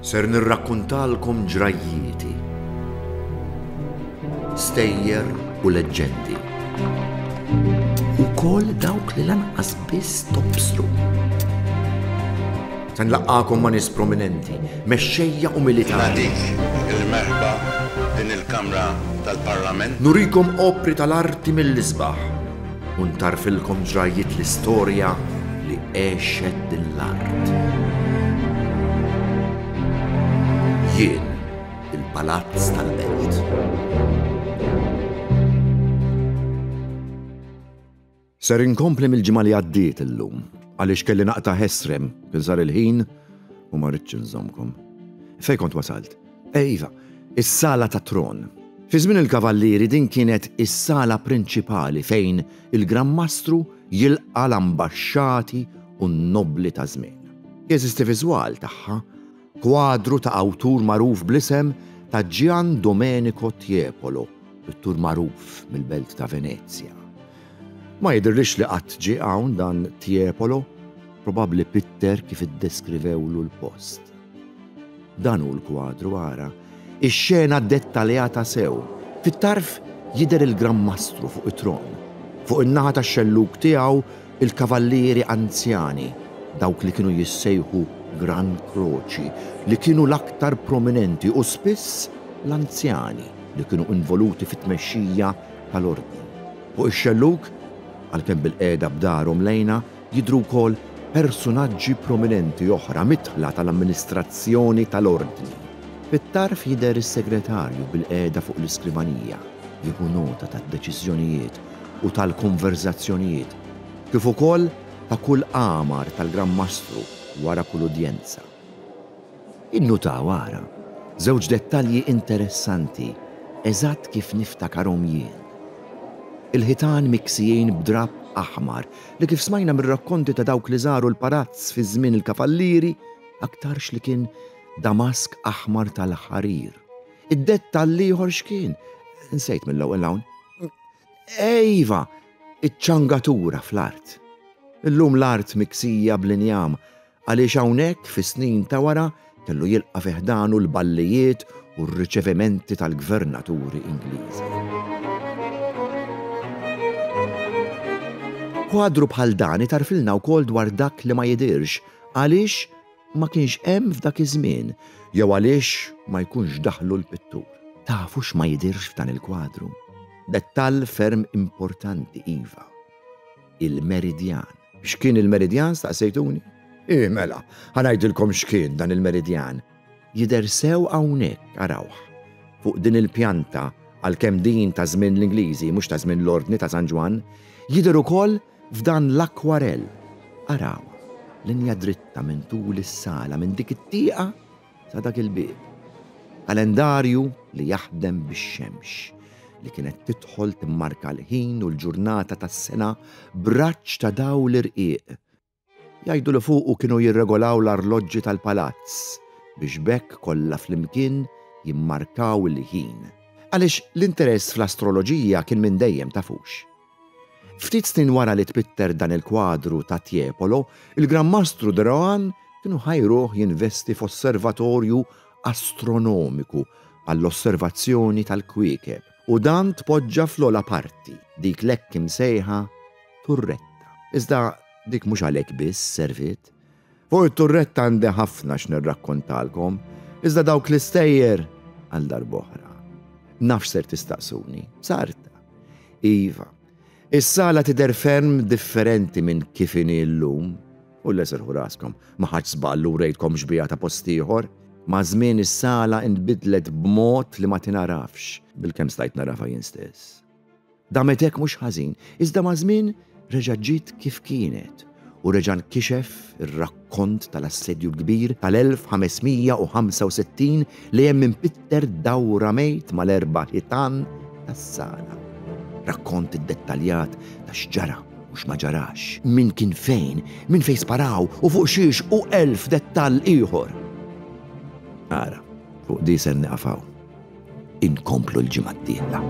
Ser nirrakkuntalkom ġrajjieti, stejjer u leġġendi. Ukoll dawk li lanqas biss tobsru. Se nlaqqagħkom ma' nies prominenti, mexxejja u militari. Nagħtik il-merħba din il-Kamra tal-Parlament. Nurikom opri tal-arti mill-isbaħ u ntarfilkom ġrajjiet l-istorja li għexet din l-art. Jien il-Palazz tal-Belt. Ser inkompli mill-ġimgħa li għaddiet illum, għaliex kelli naqta' ħesrem, kien sar il-ħin u ma ridtx inżommkom. Fejn kont wasalt? Eh iva, is-sala tat-tron. Fi żmien il-Kavallieri din kienet is-sala prinċipali fejn il-Gran Mastru jilqa' l-ambaxxati u n-nobbli ta' żmienu. Jeżisti viżwal tagħha, kwadru ta' awtur magħruf bl-isem ta' Gian Domenico Tiepolo, pittur magħruf mill-belt ta' Venezja. Ma jidhirlix li qatt ġie hawn dan Tiepolo, probabbli pitter kif iddeskrivewlu l-post. Dan hu l-kwadru, ara. Ix-xena dettaljata sew. Fit-tarf jidher il-Gran Mastru fuq it-tron. Fuq in-naħa tax-xellug tiegħu il-kavallieri anzjani, dawk li kienu jissejħu Gran Croci, li kienu l-aktar prominenti u spiss l-anzjani li kienu involuti fit-tmexxija tal-Ordni. Fuq ix-xellug, għalkemm bilqiegħda b'darhom lejna, jidhru wkoll persunaġġi prominenti oħra midħla tal-amministrazzjoni tal-Ordni. Fit-tarf jidher is-segretarju bilqiegħda fuq l-iskrivanija, jieħu nota tad-deċiżjonijiet u tal-konverżazzjonijiet, kif ukoll ta' kull qamar tal-Gran Mastru wara kull udjenza. Innutaw, ara, żewġ dettalji interessanti eżatt kif niftakarhom jien. Il-ħitan miksijin b'drapp aħmar li kif smajna mir-rakkonti ta' dawk li żaru l-palazz fi żmien il-Kavallieri aktarx li kien damask aħmar tal-ħarir. Id-dettall l-ieħor x'kien? Insejt mill-ewwel hawn. Iva, iċ-ċangatura fl-art. Illum l-art miksija bl-injam Għaliex hawnhekk fis-snin ta' wara kellu jilqa' fi ħdanu l-ballijiet u r-riċevimenti tal-gvernaturi Ingliżi. Kwadru bħal dan itarfilna wkoll dwar dak li ma jidhirx għaliex ma kienx hemm f'dak iż-żmien jew għaliex ma jkunx daħlu l-pittur. Tafu x'ma jidhirx f'dan il-kwadru? Dettall ferm importanti iva. Il-meridjan. X'kien il-meridjan staqsejtuni? Ih mela, ħa ngħidilkom x'kien dan il-meridjan. Jidher sew hawnhekk, arawh. Fuq din il-pjanta, għalkemm din ta' żmien l-Ingliżi mhux ta' żmien l-Ordni ta' San Ġwann, jidher ukoll f'dan l-akkwarell. Arawha, linja dritta minn tul is-sala minn dik it-tieqa sa dak il-bieb. Kalendarju li jaħdem bix-xemx, li kienet tidħol timmarka l-ħin u l-ġurnata tas-sena b'raġġ ta' dawl irqiq. Jgħidu li fuqu kienu jirregolaw l-arloġġi tal-palazz biex b'hekk kollha flimkien jimmarkaw il-ħin. Għaliex l-interess fl-astroloġija kien minn dejjem tafux. Ftit snin wara li tpitter dan il-kwadru ta' Tiepolo, il-Gran Mastru de Rohan kienu ħajruh jinvesti f'osservatorju astronomiku għall-osservazzjoni tal-kwiekeb u dan tpoġġa fl-ogħla parti, dik l-hekk imsejħa turretta. Iżda dik mhux għalhekk biss serviet. Fuq it-turretta għandi ħafna x'nirrakkontalkom, iżda dawk l-istejjer għal darb'oħra. Naf x'ser tistaqsuni. Sarta. Iva. Is-sala tidher ferm differenti minn kif inhi llum. U le serħu raskom, ma ħadx żball u wrejtkom xbieha ta' post ieħor. Maż-żmien is-sala inbidlet b'mod li ma tingħarafx, bilkemm stajt nagħrafha jien stess. Damet hekk mhux ħażin, iżda maż-żmien reġgħet ġiet kif kienet u reġa' nkixef ir-rakkont tal-Assedju l-Kbir tal-1565 li hemm impitter dawra mejt mal-erba' ħitan tas-sala. Rakkont iddettaljat ta' x'ġara u x'ma ġarax, min kien fejn, minn fejn sparaw u fuq xiex u elf dettall ieħor. Ara, fuq di ser nieqaf hawn. Inkomplu l-ġimgħa d-dieħla.